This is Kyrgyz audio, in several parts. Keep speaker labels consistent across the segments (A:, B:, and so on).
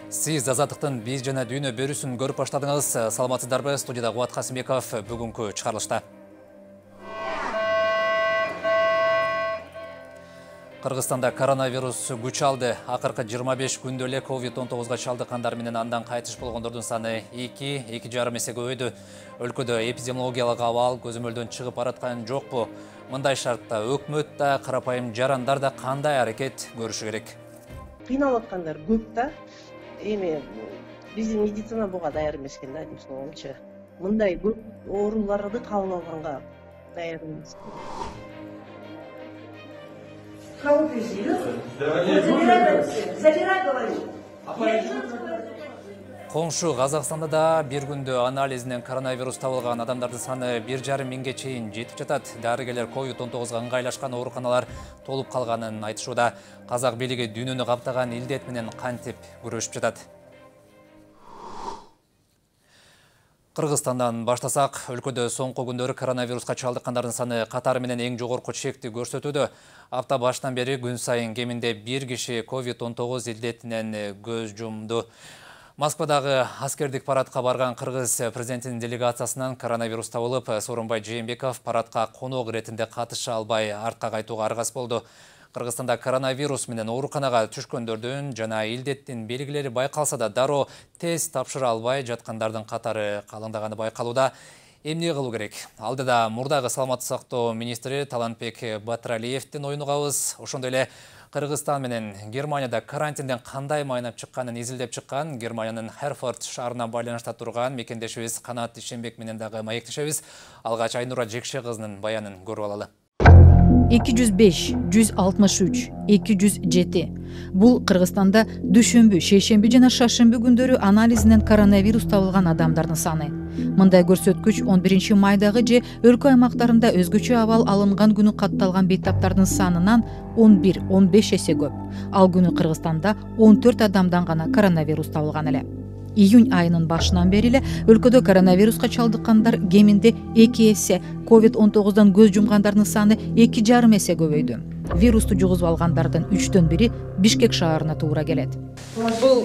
A: Сиз Азаттыктын биз жана дүйнө берүүсүн көрүп баштадыңыз. Саламатсыздарбы? Студияда Кубат Касымбеков бүгүнкү чыгарылышта. Кыргызстанда коронавирус күч алды. Акыркы 25 күндө эле COVID-19 чалдыккандар менен андан кайтыш болгондордун саны 2,5 эсе көбөйдү. Өлкөдө эпидемиологиялык абал көзөмөлдөн чыгып бараткан жокпу? Мындай шартта өкмөт да, карапайым жарандар да кандай аракет көрүшү керек?
B: Кыйналып аткандар көп да. Эми биздин медицина буга даяр эмес экен да, дейм оңчу. Мындай көп ооруларды кабыл алганга даяр эмес.
A: Коңшу Казакстанда да бир күндө анализинен коронавирус табылган адамдардын саны 1,5 миңге чейин жетип жатат. Дарыгерлер COVID-19 ыңгайлашкан ооруканалар толуп калганын айтышууда. Казак бийлиги дүйнөнү каптаган илдет менен кантип күрөшүп жатат? Кыргызстандан баштасак, өлкөдө соңку күндөрү коронавируска чалдыккандардын саны катары менен эң жогорку чекти көрсөтүүдө. Апта башынан бери күн сайын кеминде 1 киши COVID-19 илдетинен көз жумду. Москвадагы аскердик парадка барган кыргыз президентинин делегациясынан коронавирус табылып, Сооронбай Жээнбеков парадка конок иретинде катыша албай артка кайтууга аргас болду. Кыргызстанда коронавирус менен ооруканага түшкөндөрдүн жана илдеттин белгилери байкалса да, дароо тест тапшыра албай жаткандардын катары калыңдаганы байкалууда. Эмне кылуу керек? Алдыда мурдагы саламаттык сактоо министри Талантбек Батыралиевдин оюн угабыз. Ошондой эле Кыргызстан менен Германияда карантинден кандай майнап чыкканын изилдеп чыккан Германиянын Херфорд шаарына байланышта турган мекендешибиз Канат Ишенбек менен дагы маектешебиз. Алгач Айнура Жекше кызынын баянын көрүп алалы.
C: 205, 163, 207. Бул Кыргызстанда дүшүмбү, шейшемби жана шаршемби күндөрү анализинен коронавирус табылган адамдардын саны. Мындай көрсөткүч 11 майдагы же өлкө аймактарында өзгөчө абал алынган күнү катталган бейтаптардын санынан 11-15 эсе көп. Ал күнү Кыргызстанда 14 адамдан гана коронавирус табылган эле. Июнь айынын башынан бери эле өлкөдө коронавируска чалдыккандар кеминде 2 эсе, COVID-19 көз жумгандардын саны 2,5 эсе көбөйдү. Вирусту жугузуп алгандардын 3төн бири Бишкек шаарына туура келет.
D: Бул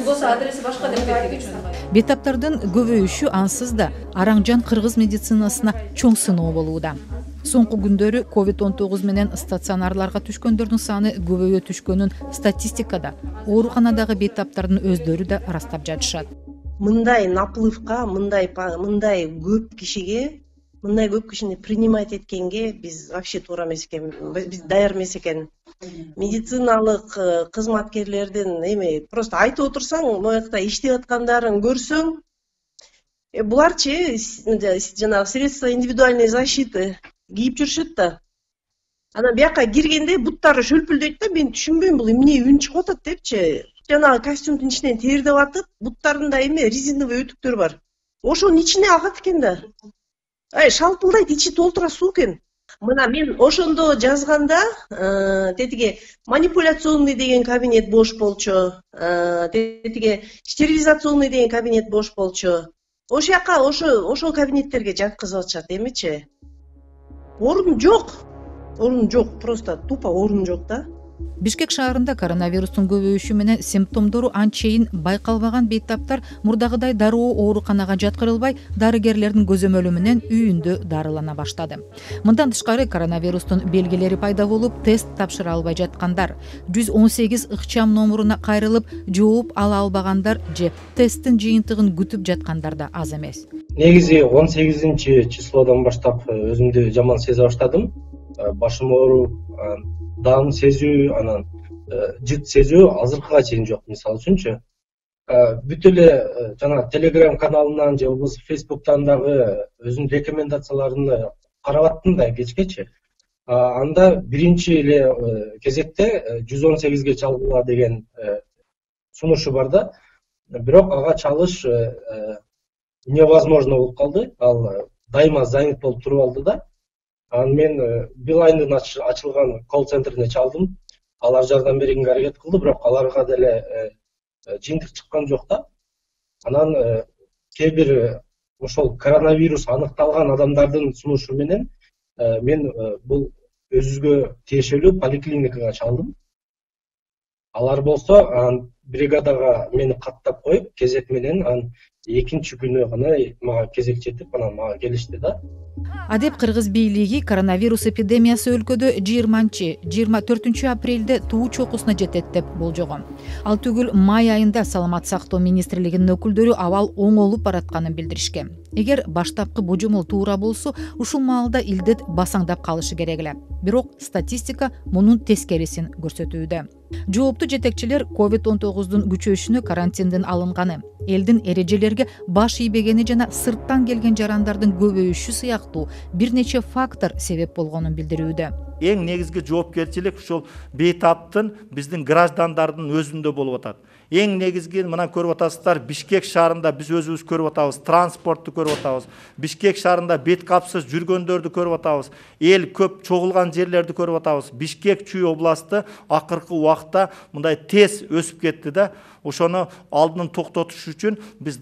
D: болсо адреси башка деп кетти.
C: Бейтаптардын көбөйүшү ансыз да Араңжан кыргыз медицинасына чоң сыноо болууда. Соңку күндөрү COVID-19 менен стационарларга түшкөндөрдүн саны көбөйө түшкөнүн статистикада ооруканадагы бейтаптардын өздөрү да ырастап жатышат.
B: Мындай наплывка, мындай көп кишини принимать эткенге биз вообще туура эмес экен, биз даяр эмес экен. Медициналык кызматкерлердин просто айтып отурсаң, моякта иштеп аткандарын көрсөң, буларчы жанагы средства индивидуальной защиты кийип жүрүшөт да. Анан бияка киргенде буттары шөлпүлдөйт да, мен түшүнбөйм, бул эмне үн чыгып атат депчи. Жанагы костюмдун ичинен тердеп атып, буттарында резиновый өтүктөр бар. Ошонун ичине агат экен да. Шалпылдайт, ичи толтура суу экен. Мына мен ошондо жазганда, тетиги манипуляционный деген кабинет бош болчу, тетиги стерилизационный деген кабинет бош болчу. Ошол жака ошол кабинеттерге жаткызып атышат эмичи. Орун жок, просто тупо орун жок да.
C: Бишкек шаарында коронавирустун көбөйүшү менен симптомдору анчейин байкалбаган бейтаптар мурдагыдай дароо ооруканага жаткырылбай, дарыгерлердин көзөмөлү менен үйүндө дарылана баштады. Мындан тышкары коронавирустун белгилери пайда болуп, тест тапшыра албай жаткандар, 118 ыкчам номуруна кайрылып, жооп ала албагандар же тесттин жыйынтыгын күтүп жаткандар да аз эмес.
E: Негизи 18 числодон баштап өзүмдү жаман сезе баштадым. Башым ооруп, даам сезүү, анан жыт сезүү азыркыга чейин жок. Мисалы үчүнчү, бүт эле жана Telegram каналынан же болбосо Facebook'тан дагы өзүнүн рекомендацияларын карап аттым да кечкечи. Анда биринчи эле кезекте 118ге чалгыла деген сунушу бар да. Бирок ага чалыш невозможно болуп калды. Ал дайыма занят болуп туруп алды да. Анан мен Билайндын ачылган колл-центрине чалдым. Алар жардам бергенге аракет кылды, бирок аларга деле жыйынтык чыккан жок да. Анан кээ бир ошол коронавирус аныкталган адамдардын сунушу менен мен бул өзүбүзгө тиешелүү поликлиникага чалдым. Алар болсо бригадага мени каттап коюп, кезек менен анан экинчи күнү гана мага кезек жетип, анан мага келишти да.
C: Адеп кыргыз бийлиги коронавирус эпидемиясы өлкөдө 20-24 апрелде туу чокусуна жетет деп болжогон. Ал түгүл май айында Саламат сактоо министрлигинин өкүлдөрү абал оңолуп баратканын билдиришкен. Эгер баштапкы божомол туура болсо, ушул маалда илдет басаңдап калышы керек эле. Бирок статистика мунун тескерисин көрсөтүүдө. Жооптуу жетекчилер COVID-19 күчөшүнө карантиндин алынганы, элдин эрежелерге баш ийбегени жана сырттан келген жарандардын көбөйүшү сыяктуу бир нече фактор себеп болгонун билдирүүдө.
F: Эң негизги жоопкерчилик ушул бейтаптын биздин граждандардын өзүндө болуп атат. Эң негизги мына көрүп атасыздар, Бишкек шаарында биз өзүбүз көрүп атабыз, транспортту көрүп атабыз. Бишкек шаарында бет капсыз жүргөндөрдү көрүп атабыз. Эл көп чогулган жерлерди көрүп атабыз. Бишкек Чүй областы акыркы убакта мындай тез өсүп кетти да. Ошону алдын токтотуш үчүн биз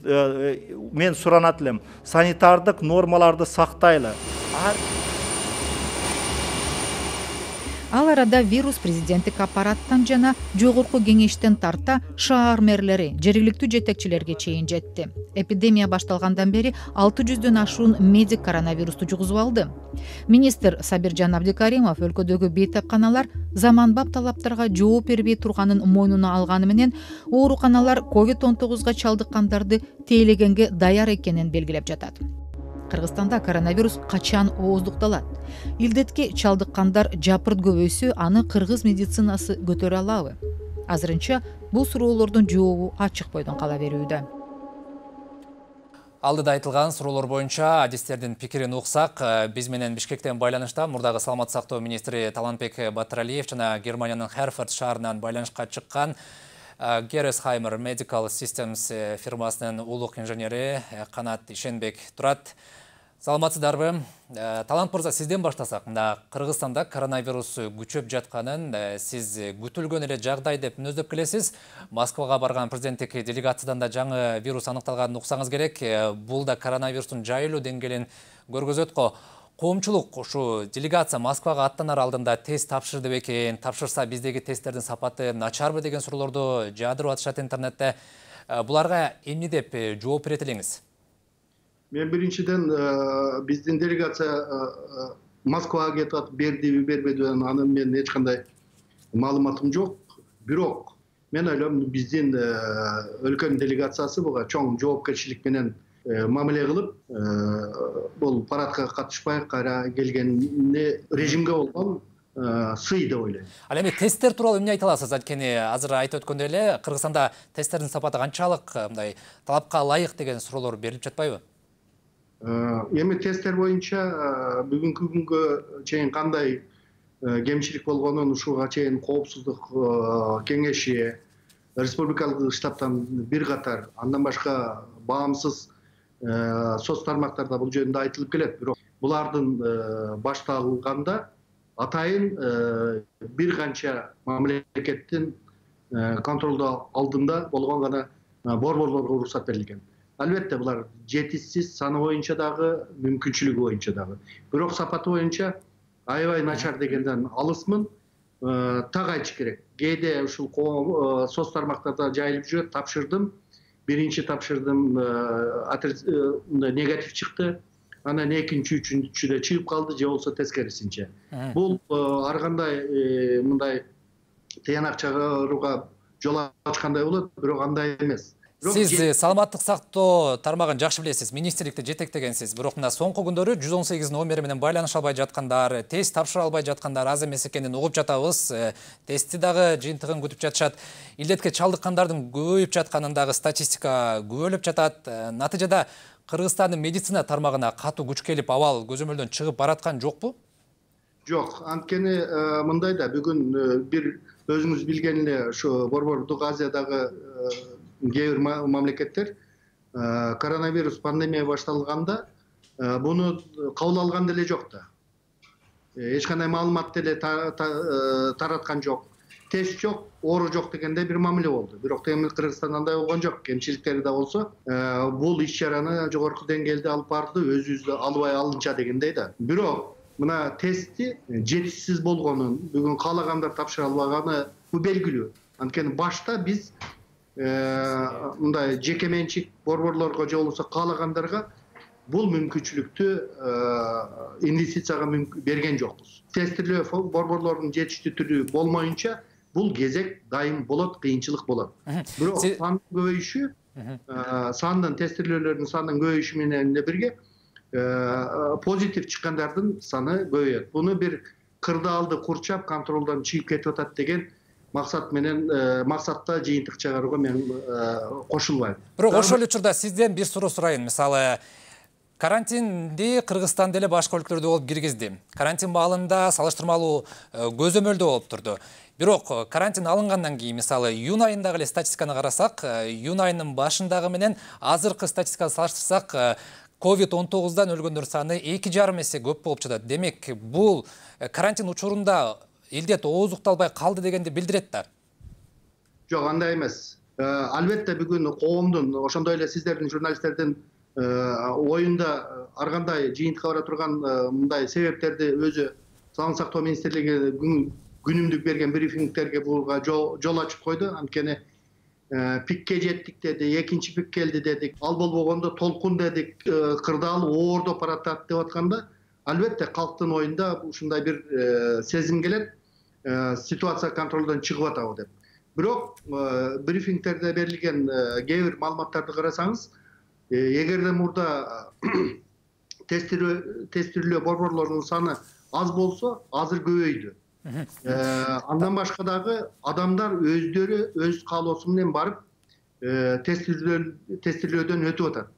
F: мен суранат элем. Санитардык нормаларды сактайлы.
C: Ал арада вирус президенттик аппараттан жана жогорку кеңештен тарта шаар мэрлери, жергиликтүү жетекчилерге чейин жетти. Эпидемия башталгандан бери 600дөн ашуун медик коронавирусту жугузуп алды. Министр Сабиржан Абдикаримов өлкөдөгү бейтапканалар заманбап талаптарга жооп бербей турганын мойнуна алганы менен ооруканалар COVID-19 чалдыккандарды тейлегенге даяр экенин белгилеп жатат. Кыргызстанда коронавирус качан ооздукталат? Илдетке чалдыккандар жапырт көбөйсө, аны кыргыз медицинасы көтөрө алабы? Азырынча бул суроолордун жообу ачык бойдон кала берүүдө.
A: Алдыда айтылган суроолор боюнча адистердин пикирин уксак, биз менен Бишкектен байланышта мурдагы Саламат сактоо министри Талантбек Батыралиев жана Германиянын Херфорд шаарынан байланышка чыккан Gerresheimer Medical Systems фирмасынын улук инженери Канат Ишенбек турат. Саламатсыздарбы? Талант мырза, сизден баштасак. Кыргызстанда коронавирус күчөп жатканын сиз күтүлгөн эле жагдай деп мүнөздөп келесиз. Москвага барган президенттик делегациядан да жаңы вирус аныкталганын уксаңыз керек. Бул да коронавирустун жайылуу деңгээлин көргөзөт го. Коомчулук ушу делегация Москвага аттанар алдында тест тапшырды бекен, тапшырса биздеги тесттердин сапаты начарбы деген суроолорду жаадырып атышат интернетте. Буларга эмне деп жооп берет элеңиз?
G: Мен биринчиден биздин делегация Москвага кетип атып бердиби бербедиби анын мен эч кандай маалыматым жок. Бирок мен ойлойм биздин өлкөнүн делегациясы буга чоң жоопкерчилик менен мамиле кылып, бул парадка катышпай кайра келгенине режимге болгон сый деп ойлойм.
A: Ал эми тесттер тууралуу эмне айта аласыз? Анткени азыр айтып өткөндөй эле Кыргызстанда тесттердин сапаты канчалык мындай талапка ылайык деген суроолор берилип жатпайбы?
G: Эми тесттер боюнча бүгүнкү күнгө чейин кандай кемчилик болгонун ушуга чейин коопсуздук кеңеши, республикалык штабтан бир катар, андан башка баамсыз соц тармактарда бул жөнүндө айтылып келет. Бирок булардын башталганда атайын бир канча мамлекеттин контролдоо алдында болгон гана борборлорго уруксат берилген. Албетте булар жетишсиз, саны боюнча дагы, мүмкүнчүлүгү боюнча дагы. Бирок сапаты боюнча аябай начар дегенден алысмын. Так айтыш керек. Кээде ушул соц тармактарда жайылып жүрөт, тапшырдым. Биринчи тапшырдым, негатив чыкты. Анан экинчи, үчүнчүдө чыгып калды, же болбосо тескерисинче. Бул ар кандай мындай тыянак чыгарууга жол ачкандай болот, бирок андай эмес.
A: Сиз саламаттык сактоо тармагын жакшы билесиз, министрликти жетектегенсиз. Бирок мына соңку күндөрү 118 номери менен байланыша албай жаткандар, тест тапшыра албай жаткандар аз эмес экенин угуп жатабыз. Тестти дагы жыйынтыгын күтүп жатышат. Илдетке чалдыккандардын көбөйүп жатканын дагы статистика күбөлөп жатат. Натыйжада Кыргызстандын медицина тармагына катуу күч келип, абал көзөмөлдөн чыгып бараткан жокпу?
G: Жок, анткени мындай да бүгүн бир өзүңүз билген эле ушу Борбордук Азиядагы кээ бир мамлекеттер коронавирус пандемия башталганда буну кабыл алган деле жок да. Эч кандай маалымат деле тараткан жок. Тест жок, оору жок дегенде бир мамиле болду. Бирок эми Кыргызстанда андай болгон жок. Кемчиликтери да болсо, бул иш-чараны жогорку деңгээлде алып барды, өзүбүздү албай алынча дегендей да. Бирок мына тестти жетишсиз болгонун, бүгүн каалагандар тапшыра албаганы бул белгилүү. Анткени башта биз мындай жеке менчик борборлорго же болбосо каалагандарга бул мүмкүнчүлүктү инвестицияга берген жокпуз. Тестирлөө борборлордун жетиштүү түрү болмоюнча бул кезек дайым болот, кыйынчылык болот. Бирок сандын көбөйүшү, сандын тестирлөөлөрдүн сандын көбөйүшү менен бирге позитив чыккандардын саны көбөйөт. Буну бир кырдаалды курчап контролдон чыгып кетип атат деген максатта жыйынтык чыгарууга мен кошулбайм.
A: Бирок ошол учурда сизден бир суроо сурайын. Мисалы, карантинди Кыргызстан деле башка өлкөлөрдө болуп киргизди. Карантин маалында салыштырмалуу көзөмөлдө болуп турду. Бирок карантин алынгандан кийин, мисалы, июнь айындагы эле статистиканы карасак, июнь айынын башындагы менен азыркы статистиканы салыштырсак, COVID-19дан өлгөндөр саны 2,5 эсе көп болуп жатат. Демек, бул карантин учурунда илдет ооздукталбай калды дегенди билдирет да.
G: Жок, андай эмес. Албетте бүгүн коомдун, ошондой эле сиздердин журналисттердин оюнда ар кандай жыйынтыкка бара турган мындай себептерди өзү Саламат сактоо министрлиги күнүмдүк берген брифингтерге буга жол ачып койду. Анткени пикке жеттик деди, экинчи пик келди дедик, ал болбогондо толкун дедик, кырдаал оордоп баратат деп атканда, албетте калктын оюнда ушундай бир сезим келет, ситуация контролдон чыгып атабы деп. Бирок брифингтерде берилген кээ бир маалыматтарды карасаңыз, эгерде мурда тестирлөө борборлорунун саны аз болсо, азыр көбөйдү. Андан башка дагы адамдар өздөрү өз каалоосу менен барып тестирлөөдөн өтүп атат.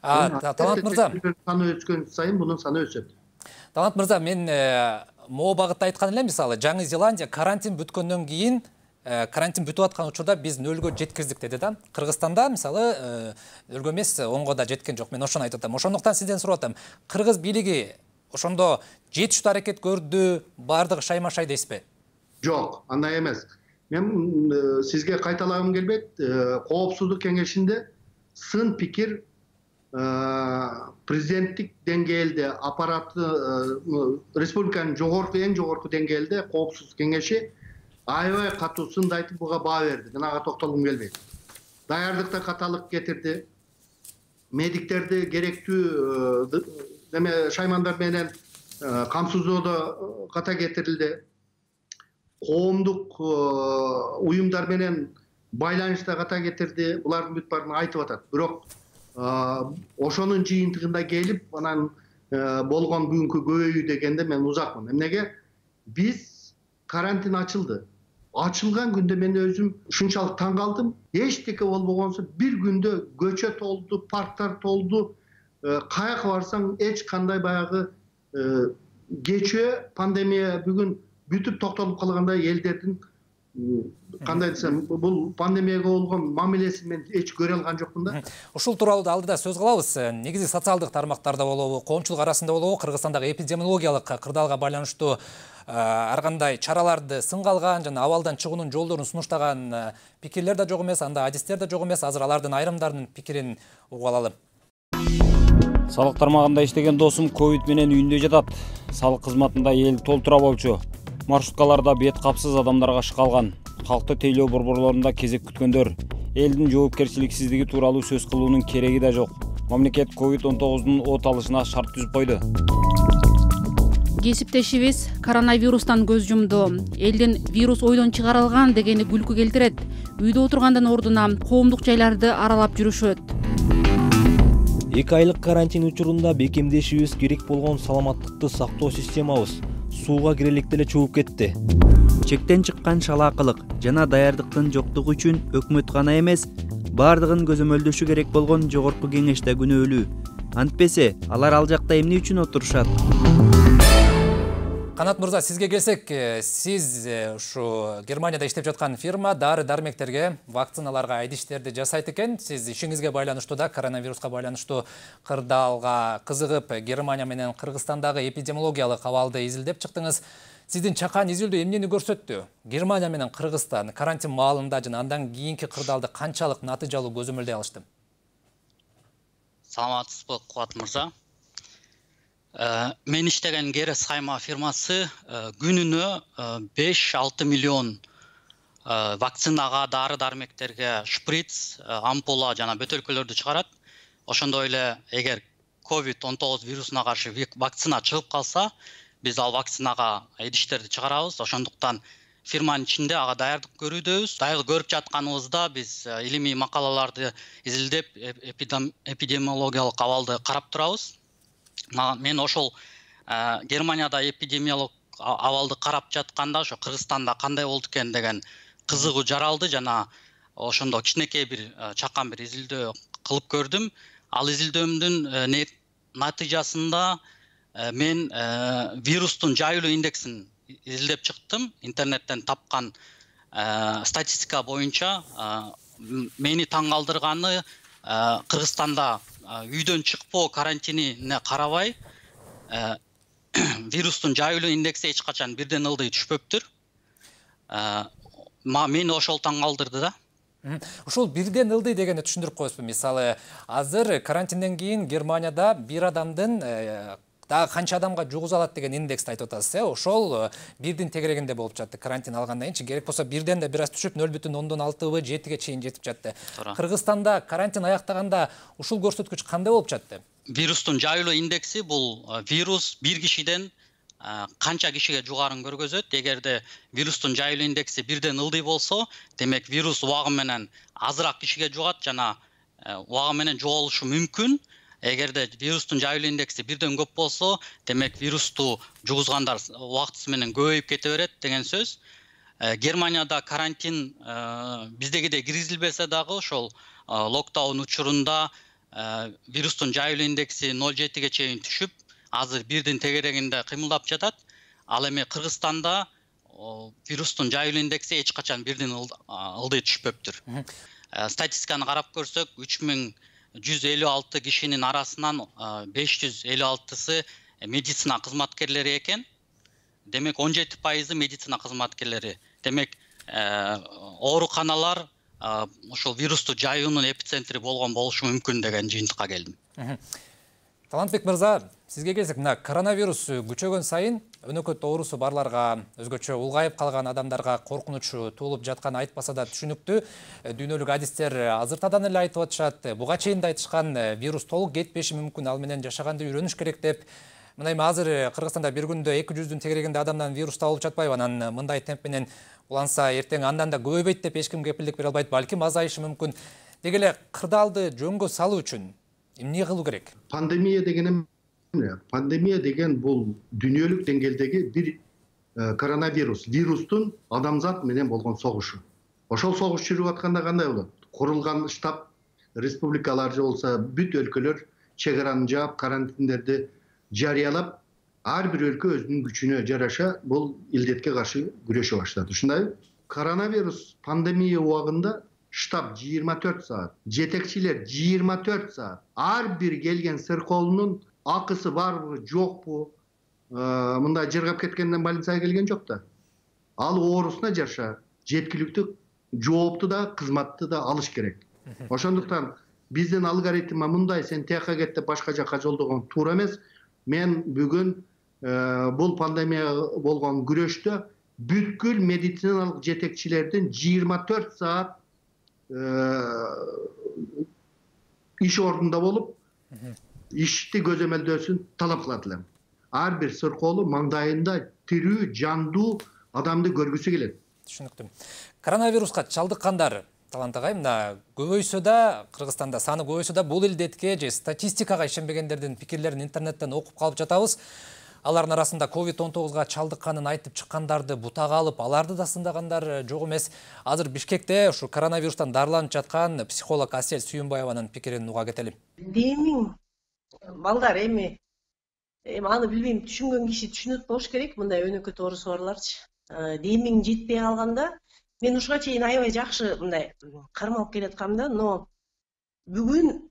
A: Талант мырза,
G: саны өскөн сайын бунун саны өсөт.
A: Талант мырза, мен могу багытта айткан элем, мисалы, Жаңы Зеландия карантин бүткөндөн кийин, карантин бүтүп аткан учурда биз нөлгө жеткиздик деди да. Кыргызстанда, мисалы, нөлгө эмес, онго да жеткен жок. Мен ошону айтып атам. Ошондуктан сизден сурап атам. Кыргыз бийлиги ошондо жетиштүү аракет көрдү, бардыгы шайма-шай дейсизби?
G: Жок, андай эмес. Мен сизге кайталагым келбейт. Коопсуздук кеңешинде сын пикир президенттик деңгээлде аппараты республиканын эң жогорку деңгээлде коопсуздук кеңеши аябай катуу сынды айтып буга баа берди. Мен ага токтолгум келбейт. Даярдыкта каталык кетирди. Медиктерди керектүү шаймандар менен камсыздоодо ката кетирилди. Коомдук уюмдар менен байланышта ката кетирди. Булардын бүт баарын айтып атат. Бирок ошонун жыйынтыгында келип, анан болгон бүгүнкү көбөйүү дегенде мен узакмын. Эмнеге? Биз карантин ачылды. Ачылган күндө мен өзүм ушунчалык таң калдым. Эчтеке болбогонсо бир күндө көчө толду, парктар толду. Каяка барсаң эч кандай баягы кечөө пандемия бүгүн бүтүп токтолуп калгандай элдердин кандай десем, бул пандемияга болгон мамилесин мен эч көрө алган жокмун да.
A: Ушул тууралуу да алдыда сөз кылабыз. Негизи социалдык тармактарда болобу, коомчулук арасында болобу, Кыргызстандагы эпидемиологиялык кырдаалга байланыштуу ар кандай чараларды сынга алган жана абалдан чыгуунун жолдорун сунуштаган пикирлер да жок эмес, анда адистер да жок эмес. Азыр алардын айрымдарынын пикирин угуп алалы.
H: Салык тармагында иштеген досум ковид менен үйүндө жатат. Салык кызматында эл толтура болчу. Маршруткаларда бет капсыз адамдарга шыкалган. Калкты тейлөө борборлорунда кезек күткөндөр. Элдин жоопкерчиликсиздиги тууралуу сөз кылуунун кереги да жок. Мамлекет COVID-19-дун от алышына шарт түзүп койду.
I: Кесиптешибиз коронавирустан көз жумду. Элдин вирус ойдон чыгарылган дегени күлкү келтирет. Үйдө отургандан ордуна коомдук жайларды аралап жүрүшөт.
J: 2 айлык карантин учурунда бекемдешибиз керек болгон саламаттыкты сактоо системабыз сууга кирелик деле чөгүп кетти.
K: Чектен чыккан шалаакылык жана даярдыктын жоктугу үчүн өкмөт гана эмес, бардыгын көзөмөлдөшү керек болгон жогорку кеңеш да күнөөлүү. Антпесе, алар ал жакта эмне үчүн отурушат?
A: Канат мырза, сизге келсек, сиз ушу Германияда иштеп жаткан фирма дары-дармектерге, вакциналарга идиштерди жасайт экен. Сиз ишиңизге байланыштуу да коронавируска байланыштуу кырдаалга кызыгып, Германия менен Кыргызстандагы эпидемиологиялык абалды изилдеп чыктыңыз. Сиздин чакан изилдөө эмнени көрсөттү? Германия менен Кыргызстан карантин маалында жана андан кийинки кырдаалды канчалык натыйжалуу көзөмөлдөй алышты?
L: Саламатсызбы, Кубат мырза. Мен иштеген Герес Хайма фирмасы күнүнө 5-6 миллион вакцинага, дары дармектерге шприц, ампула жана бөтөлкөлөрдү чыгарат. Ошондой эле эгер COVID-19 вирусуна каршы вакцина чыгып калса, биз ал вакцинага идиштерди чыгарабыз. Ошондуктан фирманын ичинде ага даярдык көрүүдөбүз. Дайыл көрүп жатканыбызда биз илимий макалаларды изилдеп, эпидемиологиялык абалды карап турабыз. Мен ошол Германияда эпидемиологиялык абалды карап жатканда ошо Кыргызстанда кандай болду экен деген кызыгуу жаралды жана ошондо кичинекей бир чакан бир изилдөө кылып көрдүм. Ал изилдөөмдүн натыйжасында мен вирустун жайылуу индексин изилдеп чыктым. Интернеттен тапкан статистика боюнча мени таң калтырганы Кыргызстанда үйдөн чыкпоо карантинине карабай вирустун жайылуу индекси эч качан бирден ылдый түшпөптүр. Мени ошол таң калтырды да.
A: Ушул бирден ылдый дегенди түшүндүрүп коесузбу? Мисалы, азыр карантинден кийин Германияда бир адамдын дагы канча адамга жугуза алат деген индексти айтып атасыз, ошол бирдин тегерегинде болуп жатты. Карантин алгандан кийинчи керек болсо бирден да бир аз түшүп 0,6 7ге чейин жетип жатты. Кыргызстанда карантин аяктаганда ушул көрсөткүч кандай болуп жатты?
L: Вирустун жайылуу индекси бул вирус бир кишиден канча кишиге жугарын көргөзөт. Эгерде вирустун жайылуу индекси бирден ылдый болсо, демек вирус убагы менен азыраак кишиге жугат жана убагы менен жоголушу мүмкүн. Эгерде вирустун жайылуу индекси бирден көп болсо, демек вирусту жугузгандар убактысы менен көбөйүп кете берет деген сөз. Германияда карантин биздегидей киргизилбесе дагы ошол локдаун учурунда вирустун жайылуу индекси 0,7ге чейин түшүп, азыр бирдин тегерегинде кыймылдап жатат. Ал эми Кыргызстанда вирустун жайылуу индекси эч качан бирден ылдый түшпөптүр. Статистиканы карап көрсөк, 3156 кишинин арасынан 556сы медицина кызматкерлери экен. Демек 17% медицина кызматкерлери. Демек ооруканалар ошол вирусту жайуунун эпицентри болгон болушу мүмкүн деген жыйынтыкка келдим.
A: Талантбек мырза, сизге келсек, мына коронавирус күчөгөн сайын өнөкөт оорусу барларга, өзгөчө улгайып калган адамдарга коркунучу туулуп жатканы айтпаса да түшүнүктүү. Дүйнөлүк адистер азыртадан эле айтып атышат, буга чейин да айтышкан, вирус толук кетпеши мүмкүн, ал менен жашаганды үйрөнүш керек деп. Мына эми азыр Кыргызстанда бир күндө 200-дүн тегерегинде адамдан вирус табылып жатпайбы? Анан мындай темп менен уланса эртең андан да көбөйбөйт деп эч ким кепилдик бере албайт, балким азайышы мүмкүн. Деги эле кырдаалды жөнгө салуу үчүн эмне кылуу керек?
G: Пандемия деген бул дүйнөлүк деңгээлдеги бир коронавирус, вирустун адамзат менен болгон согушу. Ошол согуш жүрүп атканда кандай болот? Курулган штаб республикалар же болсо бүт өлкөлөр чек араны жаап, карантиндерди жарыялап, ар бир өлкө өзүнүн күчүнө жараша бул илдетке каршы күрөшө баштады. Ушундай коронавирус пандемия убагында штаб 24 саат, жетекчилер 24 саат, ар бир келген сыркоолунун акысы барбы, жокпу, мындай жыргап кеткенден больницага келген жок да. Ал оорусуна жараша жеткиликтүү жоопту да, кызматты да алыш керек. Ошондуктан биздин алгоритм мындай, сен тияка кет деп башка жака жолдогон туура эмес. Мен бүгүн бул пандемия болгон күрөштө бүткүл медициналык жетекчилердин 24 саат иш ордунда болуп, ишти көзөмөлдөөсүн талап кылат элем. Ар бир сыркоолу маңдайында тирүү, жандуу адамды көргүсү келет.
A: Түшүнүктүү. Коронавируска чалдыккандар, Талант агай, мына көбөйсө да, Кыргызстанда саны көбөйсө да, бул илдетке же статистикага ишенбегендердин пикирлерин интернеттен окуп калып жатабыз. Алардын арасында COVID-19га чалдыкканын айтып чыккандарды бутага алып, аларды да сындагандар жок эмес. Азыр Бишкекте ушу коронавирустан дарыланып жаткан психолог Асель Сүйүнбаеванын пикирин уга кетели.
B: Демиң балдар эми аны билбейм, түшүнгөн киши түшүнөт болуш керек, мындай өнөкөт оорусу барларчы. Демиң жетпей калганда, мен ушуга чейин аябай жакшы мындай кармалып келаткам да, но бүгүн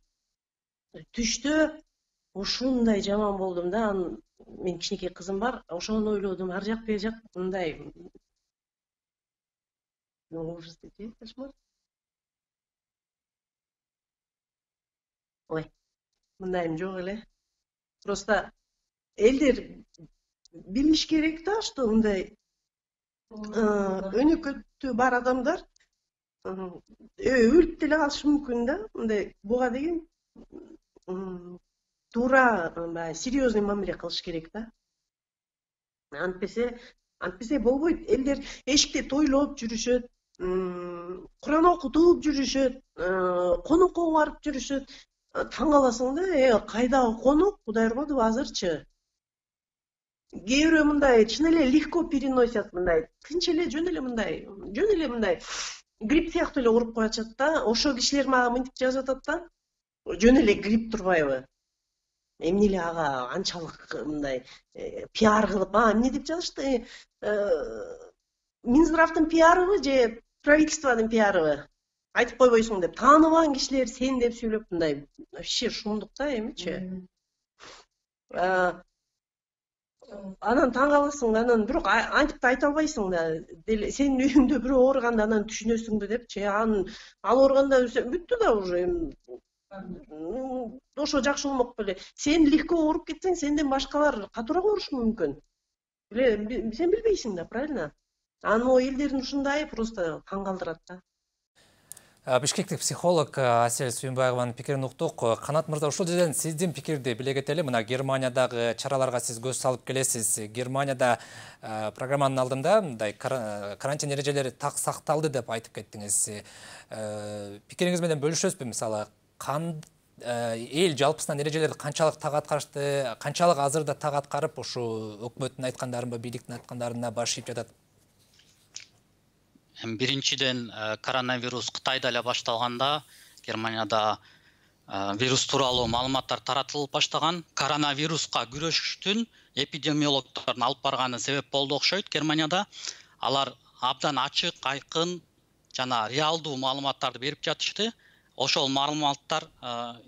B: түштө ушундай жаман болдум да. Мен кичинекей кызым бар, ошону ойлодум, ар жак бер жак мындай ужас депчи, кошмар. Ой, мындайым жок эле. Просто элдер билиш керек да, что мындай өнөкөттү үстү бар адамдар өлүп деле калышы мүмкүн да. Мындай буга деген туура баягы серьезный мамиле кылыш керек да. Антпесе болбойт. Элдер эшикте тойлоп жүрүшөт, Куран окутуп жүрүшөт, конокко барып жүрүшөт. Таң каласың да, кайдагы конок, Кудай урбадыбы азырчы? Кээ бирөө мындай чын эле легко переносят, мындай тынч эле жөн эле мындай грипп сыяктуу эле уруп коюшат да. Ошо кишилер мага мынтип жазып атат да. Жөн эле грипп турбайбы? Эмне эле ага анчалык мындай пиар кылып, эмне деп жазышты? Минздравдын пиарыбы же правительствонун пиарыбы? Айтып койбойсуң деп, тааныбаган кишилер сен деп сүйлөп мындай вообще шумдук да эмичи. Анан таң каласың, анан бирок антип да айта албайсың да. Сенин үйүңдө бирөө ооруганда анан түшүнөсүңбү депчи. Ал ооруганда бүттү да уже. Ошо жакшы болмок беле. Сен легко ооруп кетсең, сенден башкалар катуураак оорушу мүмкүн. Сен билбейсиң да, правильно? Анын о элдердин ушундай просто таң калтырат да.
A: Бишкектик психолог Асель Сүйүнбаеванын пикирин уктук. Канат мырза, ушул жерден сиздин пикирди биле кетели. Мына Германиядагы чараларга сиз көз салып келесиз. Германияда программанын алдында мындай карантин эрежелери так сакталды деп айтып кеттиңиз. Пикириңиз менен бөлүшөсүзбү? Мисалы, эл жалпысынан эрежелерди канчалык так аткарышты, канчалык азырда так аткарып, ушу өкмөттүн айткандарын, бийликтин айткандарына баш ийип жатат?
L: Биринчиден, коронавирус Кытайда эле башталганда, Германияда вирус тууралуу маалыматтар таратылып баштаган. Коронавируска күрөшүштүн эпидемиологдордун алып барганы себеп болду окшойт Германияда. Алар абдан ачык, айкын жана реалдуу маалыматтарды берип жатышты. Ошол маалыматтар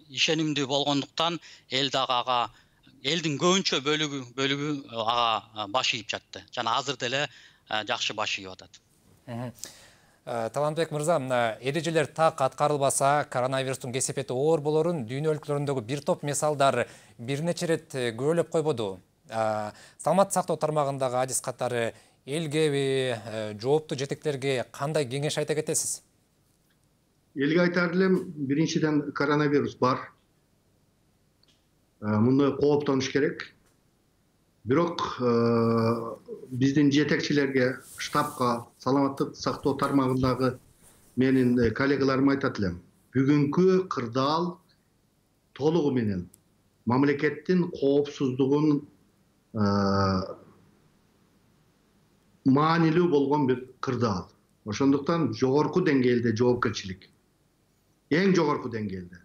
L: ишенимдүү болгондуктан эл дагы ага, элдин көбүнчө бөлүгү ага баш ийип жатты. Жана азыр деле жакшы баш ийип атат.
A: Талантбек мырза, эрежелер так аткарылбаса, коронавирустун кесепети оор болорун дүйнө өлкөлөрүндөгү бир топ мисалдар бир нече рет күбөлөп койбоду. Саламаттык сактоо тармагындагы адис катары элгеби, жооптуу жетектерге кандай кеңеш айта кетесиз?
G: Элге айтар элем, биринчиден коронавирус бар. Муну кооптонуш керек. Бирок биздин жетекчилерге, штабка, саламаттык сактоо тармагындагы менин коллегаларыма айтат элем. Бүгүнкү кырдаал толугу менен мамлекеттин коопсуздугун маанилүү болгон бир кырдаал. Ошондуктан жогорку деңгээлде жоопкерчилик. Эң жогорку деңгээлде.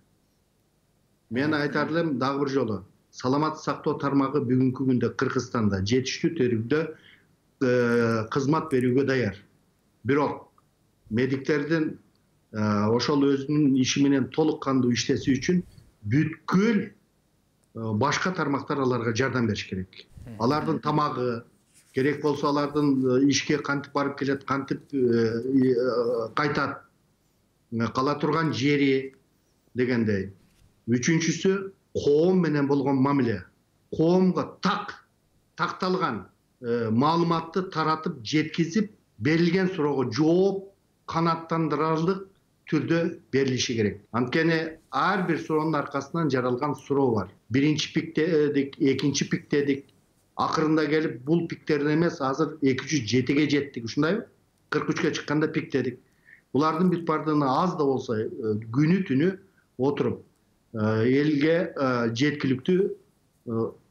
G: Мен айтар элем дагы бир жолу. Саламаттык сактоо тармагы бүгүнкү күндө Кыргызстанда жетиштүү түрдө кызмат берүүгө даяр. Бирок медиктердин ошол өзүнүн иши менен толук кандуу иштеши үчүн бүткүл башка тармактар аларга жардам бериш керек. Алардын тамагы, керек болсо алардын ишке кантип барып келет, кантип кайтат, кала турган жери дегендей. Үчүнчүсү коом менен болгон мамиле. Коомго такталган маалыматты таратып жеткизип, берилген суроого жооп канааттандырарлык түрдө берилиши керек. Анткени ар бир суроонун аркасынан жаралган суроо бар. Биринчи пиктедик, экинчи пиктедик. Акырында келип бул пиктерден эмес, азыр 207ге жеттик, ушундайбы? 43ке чыкканда пиктедик. Булардын бүт бардыгына аз да болсо күнү түнү отуруп элге жеткиликтүү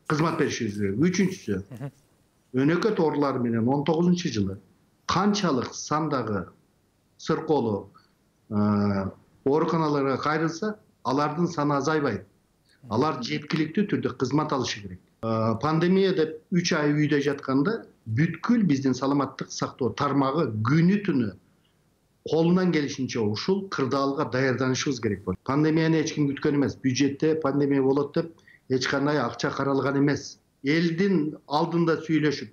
G: кызмат беришибиз керек. Үчүнчүсү, өнөкөт оорулар менен 19-жылы канчалык сандагы сыркоолуу ооруканаларга кайрылса, алардын саны азайбайт. Алар жеткиликтүү түрдө кызмат алышы керек. Пандемия деп 3 ай үйдө жатканда бүткүл биздин саламаттык сактоо тармагы күнү түнү колунан келишинче ушул кырдаалга даярданышыбыз керек болот. Пандемияны эч ким күткөн эмес. Бюджетте пандемия болот деп эч кандай акча каралган эмес. Элдин алдында сүйлөшүп,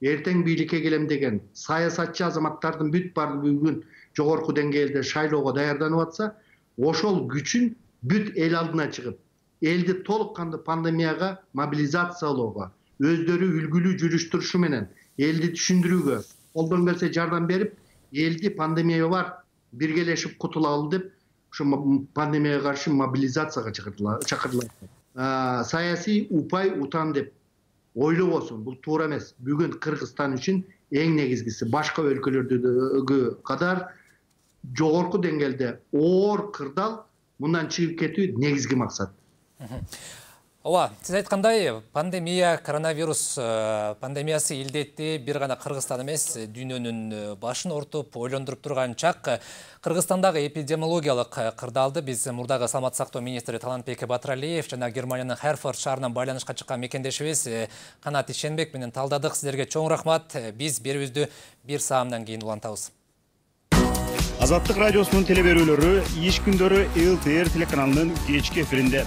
G: эртең бийликке келем деген саясатчы азаматтардын бүт баардыгы бүгүн жогорку деңгээлде шайлоого даярданып атса, ошол күчүн бүт эл алдына чыгып, элди толук кандуу пандемияга мобилизациялоого, өздөрү үлгүлүү жүрүш турушу менен элди түшүндүрүүгө, колдон келсе жардам берип, элди пандемия бар, биргелешип кутулалы деп ушу пандемияга каршы мобилизацияга чакырдылар. Саясий упай утан деп ойлобосун, бул туура эмес. Бүгүн Кыргызстан үчүн эң негизгиси башка өлкөлөрдөгү кадар жогорку деңгээлде оор кырдаал мындан чыгып кетүү негизги максат.
A: Ооба, сиз айткандай, пандемия, коронавирус пандемиясы илдетти бир гана Кыргызстан эмес, дүйнөнүн башын ортуп, ойлондуруп турган чак. Кыргызстандагы эпидемиологиялык кырдаалды биз мурдагы саламаттык сактоо министри Талантбек Батыралиев жана Германиянын Херфорд шаарынан байланышка чыккан мекендешибиз Канат Ишенбек менен талдадык. Сиздерге чоң рахмат. Биз берүүбүздү бир саамдан кийин улантабыз.
M: Азаттык радиосунун телеберүүлөрү иш күндөрү ЛТР телеканалынын кечки эфиринде.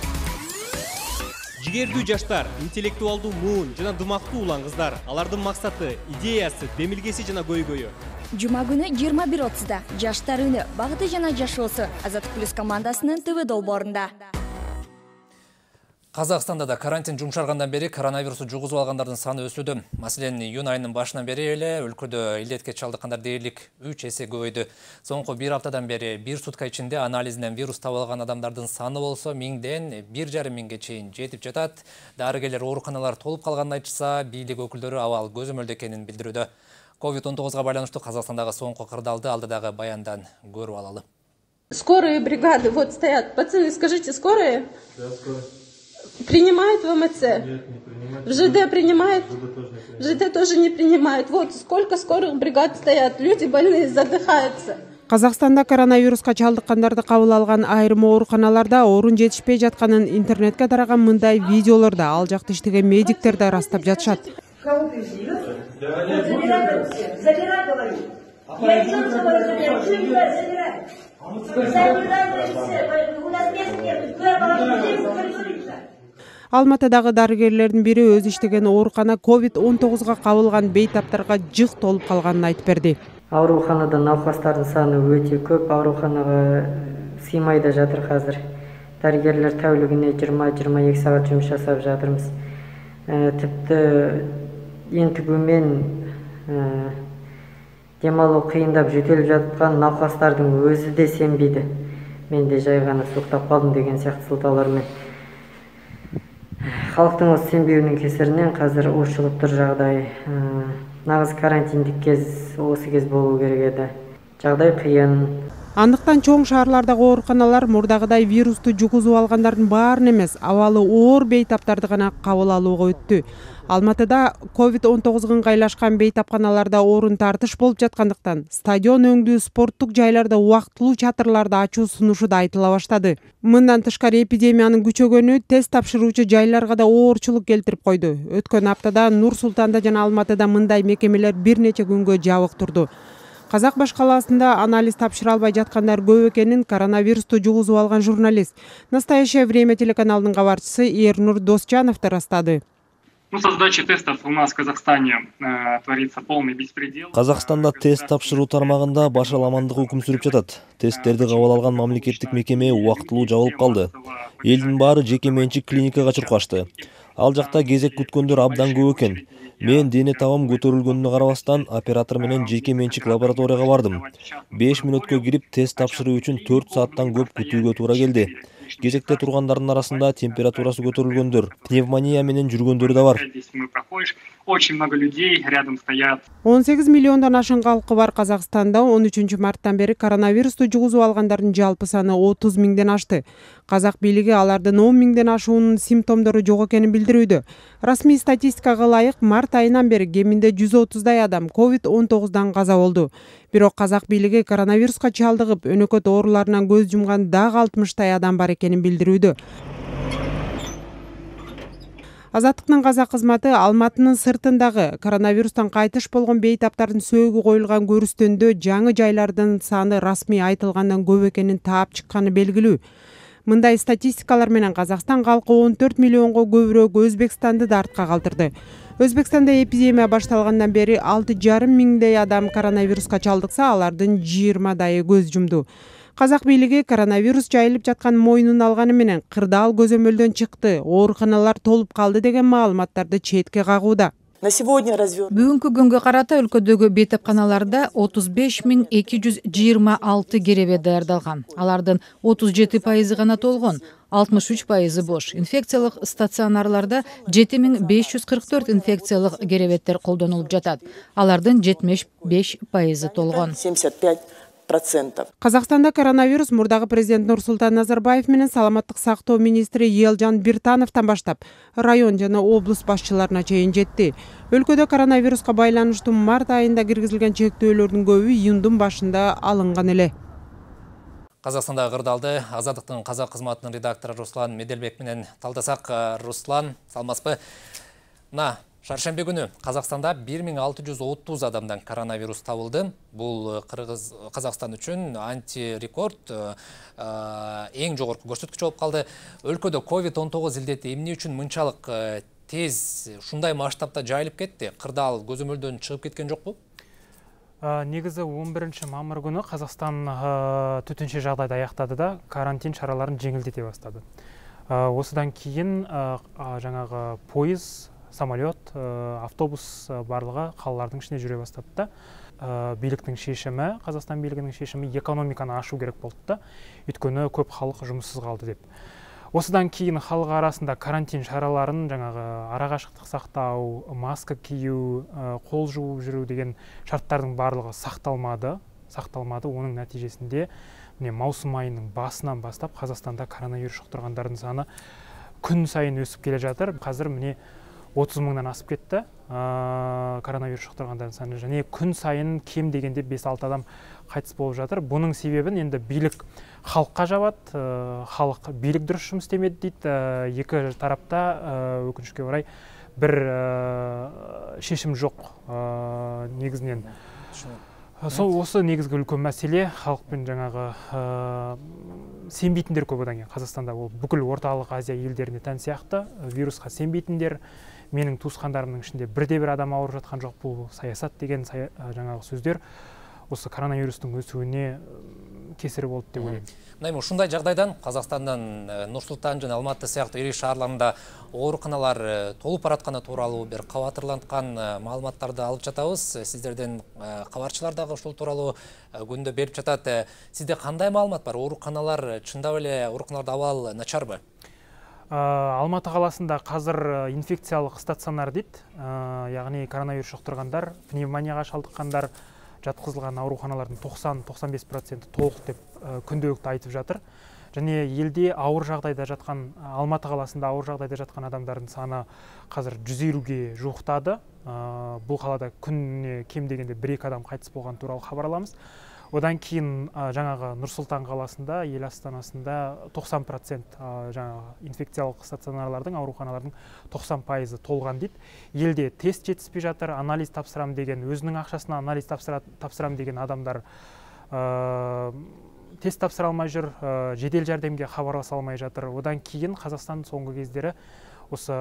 N: Жигердүү жаштар, интеллектуалдуу муун жана дымактуу улан кыздар, алардын максаты, идеясы, демилгеси жана көйгөйү.
O: Жума күнү 21:30да Жаштар үнү, багыты жана жашоосу Азаттык плюс командасынын ТВ долбоорунда.
A: Казакстанда да карантин жумшаргандан бери коронавирусу жугузуп алгандардын саны өсүүдө. Маселен, июнь айынын башынан бери эле өлкөдө илдетке чалдыккандар дээрлик 3 эсе көбөйдү. Соңку бир аптадан бери бир сутка ичинде анализинен вирус табылган адамдардын саны болсо 1000ден 1,5 миңге чейин жетип жатат. Дарыгерлер ооруканалар толуп калганын айтышса, бийлик өкүлдөрү абал көзөмөлдө экенин билдирүүдө. COVID-19 байланыштуу Казакстандагы соңку кырдаалды алдыдагы баяндан көрүп алалы.
D: Скорые бригады вот стоят. Пацаны, скажите, скорые?
P: Да, скорые.
D: Принимает ВМЦ?
P: Нет, не принимает.
D: В ЖД принимает?
P: В ЖД
D: тоже не принимает. Вот сколько скорых бригад стоят. Люди больные задыхаются.
Q: Казакстанда коронавируска чалдыккандарды кабыл алган айрым ооруканаларда орун жетишпей жатканын интернетке тараган мындай видеолордо ал жакта иштеген медиктер да ырастап жатышат.
R: Кого привезли? Забирай, говорю. Я еще раз говорю, забирай. У нас мест нет.
Q: Алматыдагы дарыгерлердин бири өзү иштеген оорукана COVID-19 кабылган бейтаптарга жык толуп калганын айтып берди.
S: Ооруканада науқастардын саны өтө көп, ооруканага сыймай да жатыр азыр. Дарыгерлер тәулүгүнө 20-22 саат жумуш жасап жатырбыз. Типти энтигүүмен дем алуу кыйындап жөтөлүп жаткан науқастардын өзү де сенбейди. Мен де жай гана суктап калдым деген сыяктуу сылтаалар менен. Халктын осы сенбеүүнүн кесиринен азыр ушулуп тур жагдай. Нагыз карантиндик кез осы кез болуу керек эди. Жагдай кыйын.
Q: Андыктан чоң шаарлардагы ооруканалар мурдагыдай вирусту жугузуп алгандардын баарын эмес, абалы оор бейтаптарды гана кабыл алууга өттү. Алматыда COVID-19 ыңгайлашкан бейтапканаларда орун тартыш болуп жаткандыктан стадион өңдүү спорттук жайларда убактылуу чатырларды ачуу сунушу да айтыла баштады. Мындан тышкары эпидемиянын күчөгөнү тест тапшыруучу жайларга да оорчулук келтирип койду. Өткөн аптада Нур Султанда жана Алматыда мындай мекемелер бир нече күнгө жабык турду. Казак баш калаасында анализ тапшыра албай жаткандар көп экенин коронавирусту жугузуп алган журналист «Настоящее время» телеканалынын кабарчысы Эрнур Досчанов растады.
T: Со сдачей тестов у нас в Казахстане творится полный беспредел.
J: Казакстанда тест тапшыруу тармагында башаламандык өкүм сүрүп жатат. Тесттерди кабыл алган мамлекеттик мекеме убактылуу жабылып калды. Элдин баары жеке менчик клиникага чуркашты. Ал жакта кезек күткөндөр абдан көп экен. Мен дене табым көтөрүлгөнүнө карабастан оператор менен жеке менчик лабораторияга бардым. 5 мүнөткө кирип тест тапшыруу үчүн 4 сааттан көп күтүүгө туура келди. Кезекте тургандардын арасында температурасы көтөрүлгөндөр, пневмония менен жүргөндөр да бар.
T: Очень много людей рядом стоят.
Q: 18 миллиондон ашын калкы бар Казакстанда 13 марттан бери коронавирусту жугузуп алгандардын жалпы саны 30 миңден ашты. Казак бийлиги алардын 10 миңден ашуунун симптомдору жок экенин билдирүүдө. Расмий статистикага ылайык март айынан бери кеминде 130дай адам COVID-19 каза болду. Бирок казак бийлиги коронавируска чалдыгып, өнөкөт ооруларынан көз жумган дагы 60тай адам бар экенин билдирүүдө. Азаттыктын казак кызматы Алматынын сыртындагы коронавирустан кайтыш болгон бейтаптардын сөөгү коюлган көрүстөндө жаңы жайлардын саны расмий айтылгандан көп экенин таап чыкканы белгилүү. Мындай статистикалар менен Казакстан калкы 14 миллионго көбүрөөк Өзбекстанды да артка калтырды. Өзбекстанда эпидемия башталгандан бери 6,5 миңдей адам коронавируска чалдыкса, алардын 20дайы көз жумду. Казак бийлиги коронавирус жайылып жаткан мойнун алганы менен кырдаал көзөмөлдөн чыкты, ооруканалар толуп калды деген маалыматтарды четке кагууда.
U: На сегодня развернут.
C: Бүгүнкү күнгө карата өлкөдөгү бейтапканаларда 35.226 керебет даярдалган. Алардын 37% гана толгон, 63% бош. Инфекциялык стационарларда 7544 инфекциялык керебеттер колдонулуп жатат. Алардын 75% толгон.
U: 75%.
Q: Казакстанда коронавирус мурдагы президент Нурсултан Назарбаев менен саламаттык сактоо министри Елжан Биртановдон баштап район жана облус башчыларына чейин жетти. Өлкөдө коронавируска байланыштуу март айында киргизилген чектөөлөрдүн көбү июндун башында алынган эле.
A: Казакстанда кырдаалды Азаттыктын казак кызматынын редактору Руслан Меделбек менен талдасак. Руслан, саламатсызбы? Шаршембе күнү Казакстанда 1630 адамдан коронавирус табылды. Бул Казакстан үчүн антирекорд, эң жогорку көрсөткүч болуп калды. Өлкөдө COVID-19 илдети эмне үчүн мынчалык тез ушундай масштабта жайылып кетти? Кырдаал көзөмөлдөн чыгып кеткен жокпу?
V: Негизи 11 мамыр күнү Казакстан төтөнчө жагдайды аяктады да карантин чараларын жеңилдете баштады. Осудан кийин жаңагы поезд, самолет, автобус барлыгы калалардын ичинде жүрө баштады да. Бийликтин шешими, Казакстан бийлигинин шешими экономиканы ашуу керек болду да. Өткөнү көп халык жумушсуз калды деп. Осудан кийин халык арасында карантин чараларын жаңагы ара кашыктык сактоо, маска кийүү, кол жууп жүрүү деген шарттардын барлыгы сакталмады. Онун натыйжесинде маусым айынын басынан баштап Казакстанда коронавирус жуктургандардын саны күн сайын өсүп келе жатыр. Азыр 30 мыңдан асып кетти коронавирус жуктургандардын саны, және күн сайын кем дегенде 5-6 адам кайтыс болуп жатыр. Бунун себебин энди бийлик халыкка жабат, халык бийлик дурус жұмыс істемеди дейт. Эки тарапта өкүнүчкө орай бир шешим жок негизинен. Осы негизги үлкөн маселе, халыкпен жаңагы сенбейтиндер көп одан кийин. Казакстанда бул бүкүл Орталык Азия элдерине тан сыяктуу вируска сенбейтиндер, менин туускандарымдын ичинде бирде-бир адам ауырып жаткан жок, бул саясат деген жаңагы сөздөр осы коронавирустун өсүүнө кесири болду деп ойлойм.
A: Ушундай жагдайдан Казакстандан Нур Султан жана Алматы сыяктуу ири шаарларында ооруканалар толуп баратканы тууралуу бир кабатырланткан маалыматтарды алып жатабыз. Сиздерден кабарчылар дагы ушул тууралуу күндө берип жатат. Сизде кандай маалымат бар? Ооруканалар чындап эле ооруканаларда абал начарбы?
V: Алматы каласында азыр инфекциялык стационар дейт, ягни коронавирус жуктургандар, пневмонияга шалдыккандар жаткызылган ооруканалардын 90-95% толук деп күндөлүктө айтып жатыр. Және елде ауыр жагдайда жаткан, Алматы каласында ауыр жагдайда жаткан адамдардын саны азыр 150ге жуктады. Бул калада күнүнө кем дегенде 1-2 адам кайтыс болгон тууралуу кабар аламыз. Одан кийин жаңагы Нур Султан каласында, эл астанасында 90% жаңагы инфекциялык стационарлардын, ооруканалардын 90% толган дейт. Элде тест жетиспей жатыр, анализ тапсырам деген, өзүнүн акчасына анализ тапсырам деген адамдар тест тапсыра алмай жүр, жедел жардамга кабарлаша алмай жатыр. Одан кийин Казакстан соңку кездери осы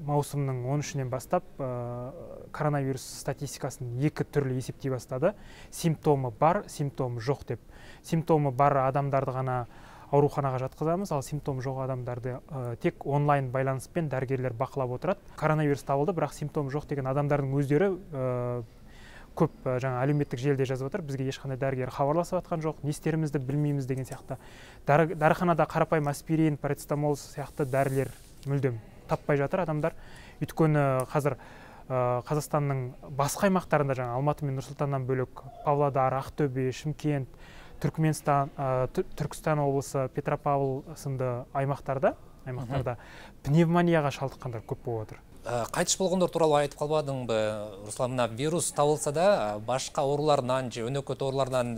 V: маусымдын 13-нен баштап коронавирус статистикасын эки түрлүү эсептей баштады. Симптомы бар, симптомы жок деп. Симптомы бар адамдарды гана ооруканага жаткызабыз, ал симптомы жок адамдарды тек онлайн байланыспен дарыгерлер бакылап отурат. Коронавирус табылды, бирок симптомы жок деген адамдардын өздөрү көп жаңа әлеуметтик желіде жазып отыр. Бизге ешқандай дәрігер хабарласып аткан жоқ, не істерімізді білмейміз деген сияқты. Дәріханада қарапайым аспирин, парацетамол сияқты дәрілер мүлдем таппай жатыр адамдар. Өйткені қазір Қазақстанның басқа аймақтарында жаңа Алматы мен Нұр-Сұлтаннан бөлек Павлодар, Ақтөбе, Шымкент, Түркістан облысы, Петропавл сынды аймақтарда пневмонияға шалдыққандар көп болып отыр.
A: Кайтыш болгондор тууралуу айтып калбадыңбы, Руслан? Мына вирус табылса да, башка оорулардан же өнөкөт оорулардан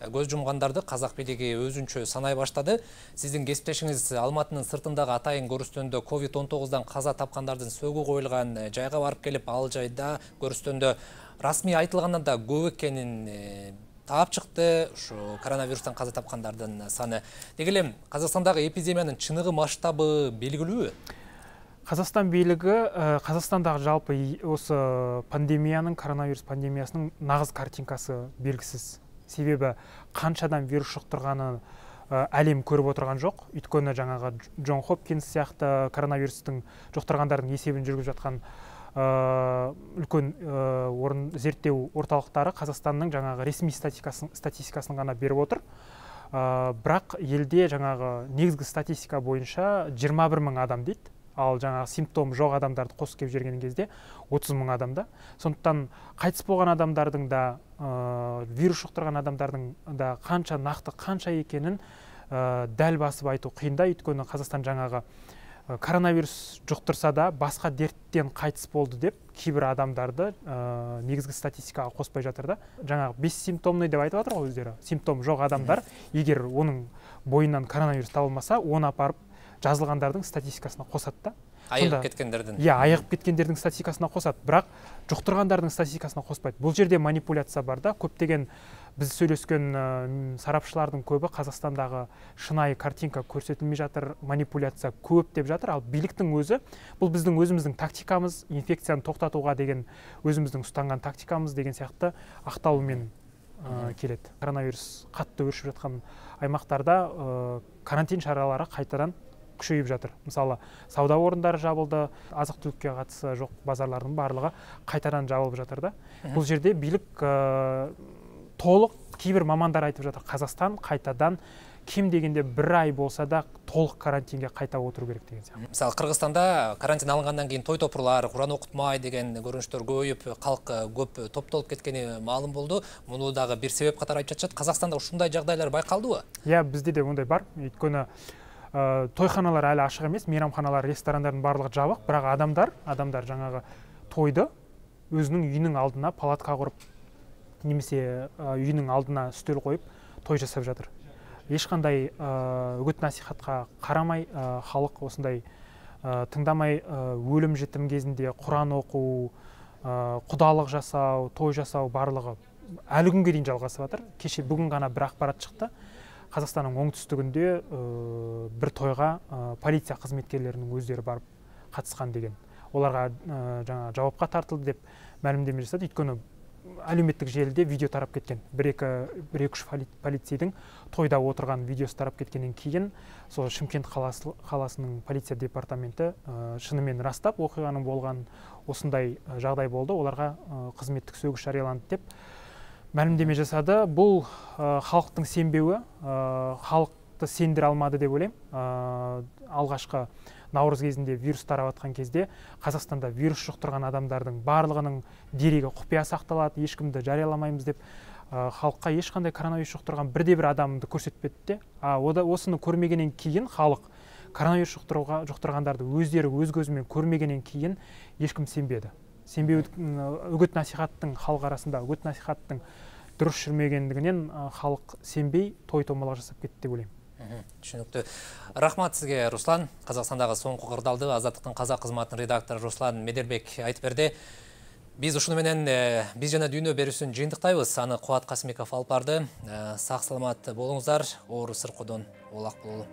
A: көз жумгандарды казак бийлиги өзүнчө санай баштады. Сиздин кесиптешиңиз Алматынын сыртындагы атайын көрүстөндө COVID-19дан каза тапкандардын сөгүү коюлган жайга барып келип, ал жайда көрүстөндө расмий айтылгандан да көп экенин таап чыкты. Ушу коронавирустан каза тапкандардын саны. Деги эле Казакстандагы эпидемиянын чыныгы масштабы белгилүүбү?
V: Казакстан бийлиги Казакстандагы жалпы осы пандемиянын, коронавирус пандемиясынын нагыз картинкасы белгисиз. Себеби канчадан вирус жуктурганын әлем көрүп отурган жок. Өйткөнү жаңагы Джон Хопкинс сыяктуу коронавирустун жуктургандардын эсебин жүргүзүп жаткан үлкен зерттөө орталыктары Казакстандын жаңагы ресмий статистикасын гана берип отур. Бирок элде жаңагы негизги статистика боюнча 21 000 адам дейт. Ал жаңагы симптом жок адамдарды косуп келип жиберген кезде 30 000 адамда. Сондуктан кайтыс болгон адамдардын да вирус жуктурган адамдардын да канча накты канча экенин дәл басып айтуу кыйын да. Өйткөнү Казакстан жаңагы коронавирус жуктурса да башка дерттен кайтыс болду деп кийбир адамдарды негизги статистикага коспой жатыр да. Жаңагы бессимптомный деп айтып атыр го өздөрү. Симптом жок адамдар эгер онун боюнан коронавирус табылмаса, оны апарып жазылгандардын статистикасына косат да.
A: Айыгып кеткендердин.
V: Айыгып кеткендердин статистикасына косат, бирок жуктургандардын статистикасына коспойт. Бул жерде манипуляция бар да. Көптөгөн биз сүйлөскөн сарапчылардын көбү Казакстандагы шынайы картинка көрсөтүлмөй жатыр, манипуляция көп деп жатыр. Ал бийликтин өзү бул биздин өзүбүздүн тактикамыз, инфекцияны токтотууга деген өзүбүздүн устанган тактикамыз деген сыяктуу акталуу менен келет. Коронавирус катты өршүп жаткан аймактарда карантин чаралары кайтадан күчөйүп жатыр. Мисалы, сауда орундары жабылды, азык-түлүккө катысы жок базарлардын баардыгы кайтадан жабылып жатыр да. Бул жерде бийлик толук, кийбир мамандар айтып жатыр, Казакстан кайтадан кем дегенде 1 ай болса да толук карантинге кайта отуруу керек деген сыяктуу.
A: Мисалы, Кыргызстанда карантин алынгандан кийин той топурлар, Куран окутмай деген көрүнүштөр көбөйүп, калк көп топтолуп кеткени маалым болду. Муну дагы бир себеп катары айтып жатышат. Казакстанда ушундай жагдайлар байкалдыбы?
V: Бизде де мындай бар. Өйткөнү тойханалар әлі ашық емес, мейрамханалар, ресторандардың барлығы жабық, бірақ адамдар жаңағы тойды өзінің үйінің алдына палатка құрып, немесе үйінің алдына үстел қойып той жасап жатыр. Ешқандай үгіт насихатқа қарамай, халық осындай тыңдамай өлім жітім кезінде Құран оқу, құдалық жасау, той жасау барлығы әлі күнге дейін жалғасып жатыр. Кеше бүгін ғана бір ақпарат шықты. Қазақстанның оңтүстігінде бір тойға полиция қызметкерлерінің өздері барып қатысқан деген. Оларға жаңа жауапқа тартылды деп мәлімдеме жасады. Өйткені әлеуметтік желіде видео тарап кеткен. Бір-екі полицейдің тойда отырған видеосы тарап кеткеннен кейін, сол Шымкент қаласының полиция департаменті шынымен растап, оқиғаның болған осындай жағдай болды. Оларға қызметтік сөгіс жарияланды деп мәлімдеме жасады. Бұл халықтың сенбеуі, халықты сендіре алмады деп ойлаймын. Алғашқы наурыз кезінде вирус тарап атқан кезде Қазақстанда вирус жұқтырған адамдардың барлығының дерегі құпия сақталады, ешкімді жарияламаймыз деп халыққа ешқандай коронавирус жұқтырған бірде-бір адамды көрсетпеді де. Осыны көрмегеннен кейін халық коронавирус жұқтырғандарды өздері өз көзімен көрмегеннен кейін ешкім сенбеді. Үгіт насихаттың халық арасында үгіт насихаттың дұрыс жүрмегендігінен халық сенбей той томалақ жасап кетті деп ойлаймын.
A: Түшүнүктүү. Рахмат сизге, Руслан. Казакстандагы соңку кырдаалды Азаттыктын казак кызматынын редактору Руслан Меделбек айтып берди. Биз ушуну менен биз жана дүйнө берүүсүн жыйынтыктайбыз. Аны Кубат Касымбеков алып барды. Сак саламат болуңуздар. Оору сыркоодон улак бололу.